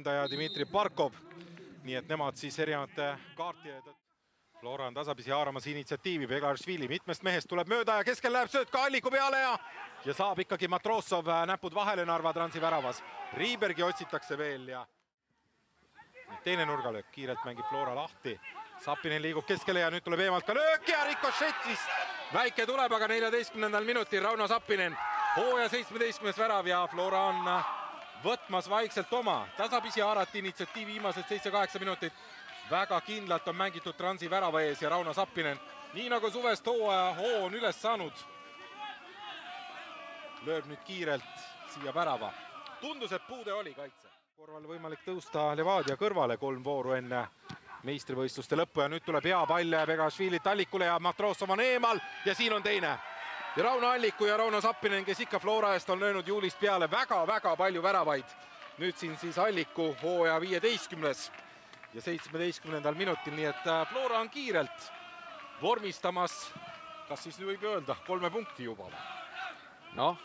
valdaja Dmitri Barkov. Nii et nemad siis erinevate kaartide. Flora on tasapisi haaramas initsiatiivi, Beglarishvili mitmest mehest tuleb mööda ja keskel läheb sööt ka Alliku peale ja saab ikkagi Matrossov näpud vahele Narva Transi väravas. Riibergi otsitakse veel ja teine nurgalöök, kiirelt mängib Flora lahti. Sapinen liigub keskele ja nüüd tuleb eemalt ka löök ja rikošettist. Väike tuleb, aga 14. minutil Rauno Sapinen. Hooaja 17. värav ja Flora on võtmas vaikselt oma. Tasapisi haarati initsiatiivi viimased 7-8 minutit. Väga kindlalt on mängitud Transi värava ees ja Rauno Sapinen, nii nagu suvest hooaja hoo on üles saanud, lööb nüüd kiirelt siia värava. Tundus, et puude oli kaitse. Korval võimalik tõusta Levadia kõrvale 3 vooru enne meistrivõistluste lõppu ja nüüd tuleb hea pall ja Beglarishvilit Allikule ja Matrossov on eemal ja siin on teine. Ja Rauno Alliku ja Rauno Sapinen, kes ikka Flora eest on löönud juulist peale väga-väga palju väravaid. Nüüd siin siis Alliku hooaja 15. ja 17. minutil, nii et Flora on kiirelt vormistamas, kas siis võib öelda 3 punkti juba? Noh,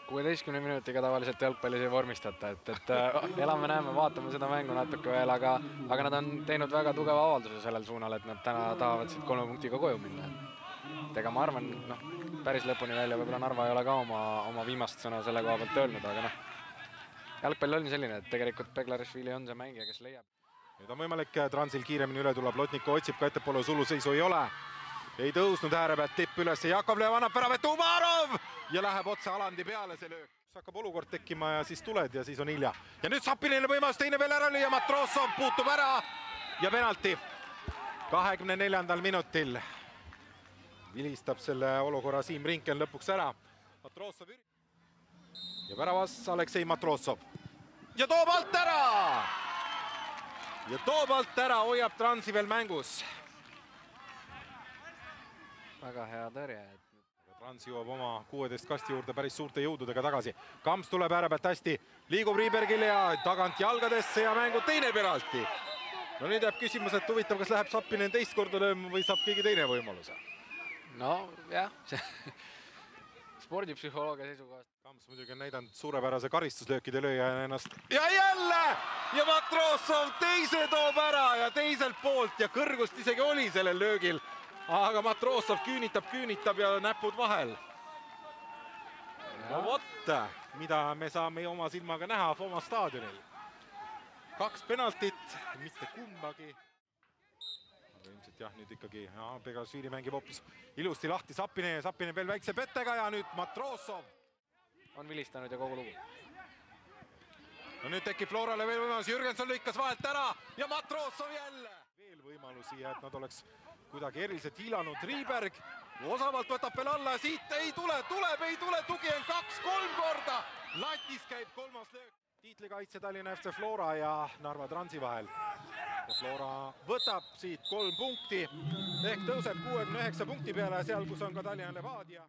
16 minutiga tavaliselt jalgpallis ei vormistata, et elame-näeme, vaatame seda mängu natuke veel, aga nad on teinud väga tugeva avalduse sellel suunal, et nad täna tahavad siit 3 punktiga koju minna. Ega ma arvan, päris lõpuni välja võib-olla Narva ei ole ka oma viimast sõna selle koha pealt öelnud, aga jalgpall on selline, et tegelikult Beglarishvili on see mängija, kes leiab. Nüüd on võimalik Transil kiiremini üle tulla, Plotniku otsib ka ettepoole, suluseisu ei ole. Ei tõusnud ääre pealt tipp üles, Jakovlev annab väravet, Umarov ja läheb otse Alandi peale see löök. Hakkab olukord tekkima ja siis tuled ja siis on hilja. Ja nüüd Sapinile võimalus teine veel ära lüüa, Matrossov puutub ära ja penalti 24. minutil. Vilistab selle olukorra Siim Rinken lõpuks ära. Matrossov ja väravas Aleksei Matrossov. Ja toob alt ära! Ja toob alt ära, hoiab Transi veel mängus. Väga hea tõrje. Trans jõuab oma 16 kasti juurde päris suurte jõududega tagasi. Kamps tuleb ääre pealt hästi, liigub Riibergile ja tagant jalgadesse ja mängu teine penalti. No nüüd jääb küsimus, et huvitav, kas läheb Sapinen teist korda lööma või saab keegi teine võimaluse? No jah, spordipsühholoogia seisukohast. Kamps muidugi on näidanud suurepärase karistuslöökide lööja ennast. Ja jälle! Ja Matrossov teise toob ära ja teiselt poolt ja kõrgust isegi oli sellel löögil. Aga Matrossov küünitab ja näpud vahel. No vot, mida me saame oma silmaga näha Foma staadionil. 2 penaltit, mitte kumbagi. Ilmselt jah, nüüd ikkagi Beglarishvili mängib hoopis ilusti lahti Sapinen veel väikse pettega ja nüüd Matrossov on vilistanud ja kogu lugu. No nüüd tekib Florale veel võimalus, Jürgenson lükkas vahelt ära ja Matrossov jälle. Veel võimalusi ja et nad oleks kuidagi eriliselt hiilanud. Riiberg osavalt võtab veel alla ja siit ei tule, tugi on 2-3 korda. Latis käib 3. löök. Tiitlikaitse Tallinna FC Flora ja Narva Transi vahel. Ja Flora võtab siit 3 punkti ehk tõuseb 69 punkti peale seal, kus on ka Tallinna Levadia.